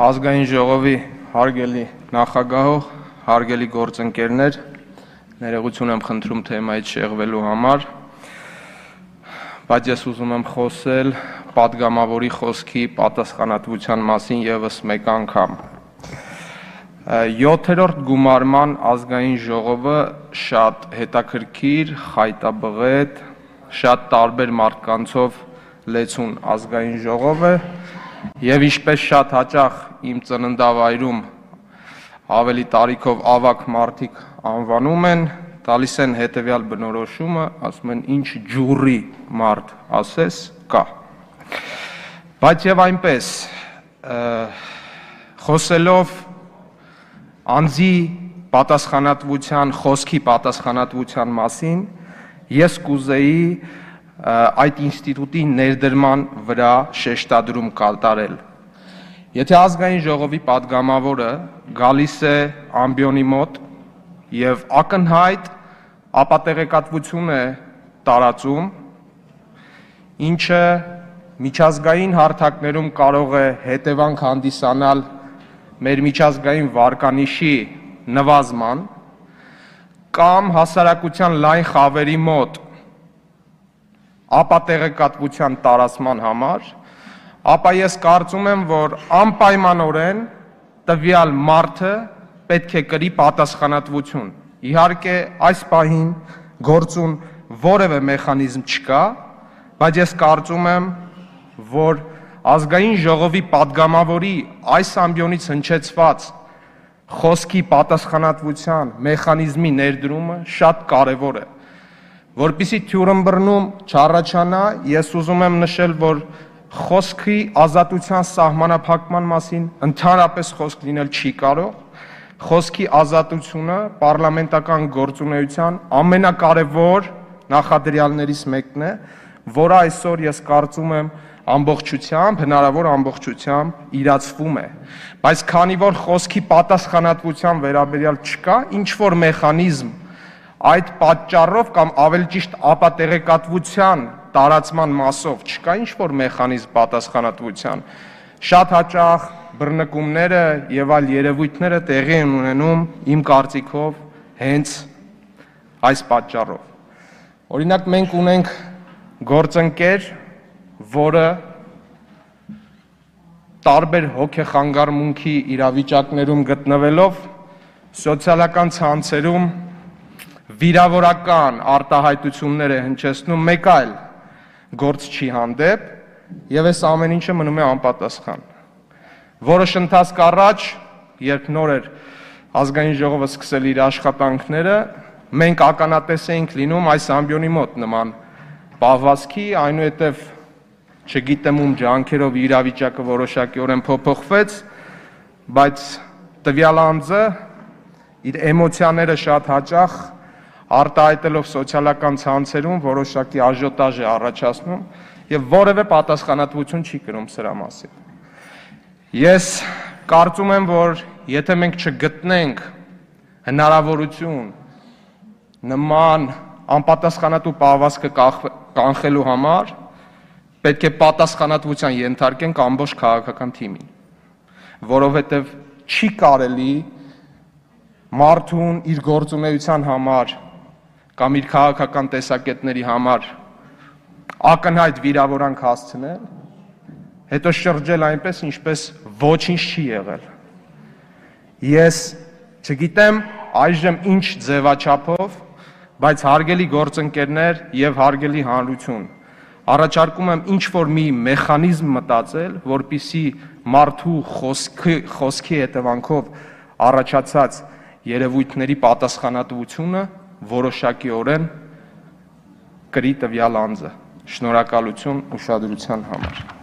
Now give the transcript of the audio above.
Ազգային ժողովի հարգելի նախագահող, հարգելի գործընկերներ, ներողություն եմ խնդրում թեմայից շեղվելու համար, բայց ես ուզում եմ խոսել պատգամավորի խոսքի պատասխանատվության մասին ևս մեկ անգամ։ 7-րդ գումարման ազգային ժողովը շատ հետաքրքիր, խայտաբղետ, շատ տարբեր մարդկանցով լեցուն ազգային ժողով է եւ ինչպես շատ հաճախ իմ ծննդավայրում ավելի տարիքով ավակ մարդիկ անվանում են, տալիս են հետեւյալ բնորոշումը, ասում են ինչ ջուրի մարդ ասես կա։ Բայց եւ այնպես խոսելով անձի պատասխանատվության, խոսքի պատասխանատվության մասին, ես կուզեի այդ ինստիտուտի ներդրման վրա շեշտադրում կատարել։ Եթե ազգային ժողովի պատգամավորը գալիս է ամբիոնի մոտ եւ ակնհայտ ապատեղեկատվություն է տարածում, ինչը միջազգային հարթակներում կարող է հետևանք հանդիսանալ մեր միջազգային վարկանիշի նվազման կամ հասարակության լայն խավերի մոտ ապատեղեկատվության տարածման համար, ապա ես կարծում եմ, որ անպայմանորեն տվյալ մարդը պետք է կրի պատասխանատվություն։ Իհարկե այս պահին գործուն որևէ մեխանիզմ չկա, բայց ես կարծում եմ, որ ազգային ժողովի պատգամավորի այս ամբիոնից հնչեցված խոսքի պատասխանատվության մեխանիզմի ներդրումը շատ կարևոր է։ Որպեսզի թյուրըմբռնում չառաջանա, ես ուզում եմ նշել, որ խոսքի ազատության սահմանափակման մասին ընդհանրապես խոսք լինել չի կարող։ Խոսքի ազատությունը պարլամենտական գործունեության ամենակարևոր նախադրյալներից մեկն է, որը այսօր ես կարծում եմ ամբողջությամբ, հնարավոր ամբողջությամբ իրացվում է։ Բայց քանի որ խոսքի պատասխանատվության վերաբերյալ չկա ինչ որ մեխանիզմ այդ պատճառով կամ ավելի ճիշտ ապատեղեկատվության տարածման մասով չկա ինչ որ մեխանիզմ պատասխանատվության, շատ հաճախ բռնկումները եւ այլ երևույթները տեղի են ունենում իմ կարծիքով հենց այս պատճառով։ Օրինակ մենք ունենք գործընկեր, որը տարբեր հոգեխանգարմունքի իրավիճակներում գտնվելով սոցիալական ցանցերում վիրավորական արտահայտություններ է հնչեցնում մեկ այլ գործչի հանդեպ եւ այս ամեն ինչը մնում է անպատասխան։ Որոշ ընթացք առաջ, երբ նոր էր ազգային ժողովը սկսել իր աշխատանքները, մենք ականատես էինք լինում այս ամբիոնի մոտ նման պահվածքի, այնուհետև չգիտեմ ում ջանքերով իրավիճակը որոշակիորեն փոփոխվեց, բայց տվյալ անձը իր էմոցիաները շատ հաճախ արտահայտելով սոցիալական ցանցերում որոշակի աժոտաժ է առաջացնում եւ որևէ պատասխանատվություն չի կրում սրա մասին։ Ես կարծում եմ, որ եթե մենք չգտնենք հնարավորություն նման անպատասխանատու պահվածքը կանխելու համար, պետք է պատասխանատվության ենթարկենք ամբողջ քաղաքական թիմին, որովհետև չի կարելի մարդուն իր գործունեության համար կամ իր քաղաքական տեսակետների համար ակնհայտ վիրավորանք հասցնել, հետո շրջել այնպես, ինչպես ոչինչ չի եղել։ Ես չգիտեմ այժմ ինչ ձևաչափով, բայց հարգելի գործընկերներ եւ հարգելի հանրություն, առաջարկում եմ ինչ որ մի մեխանիզմ մտածել, որպիսի մարդու խոսքի հետևանքով առաջացած երևույթների պատասխանատվությունը որոշակիորեն կրի տվյալ անձը։ Շնորհակալություն ուշադրության համար։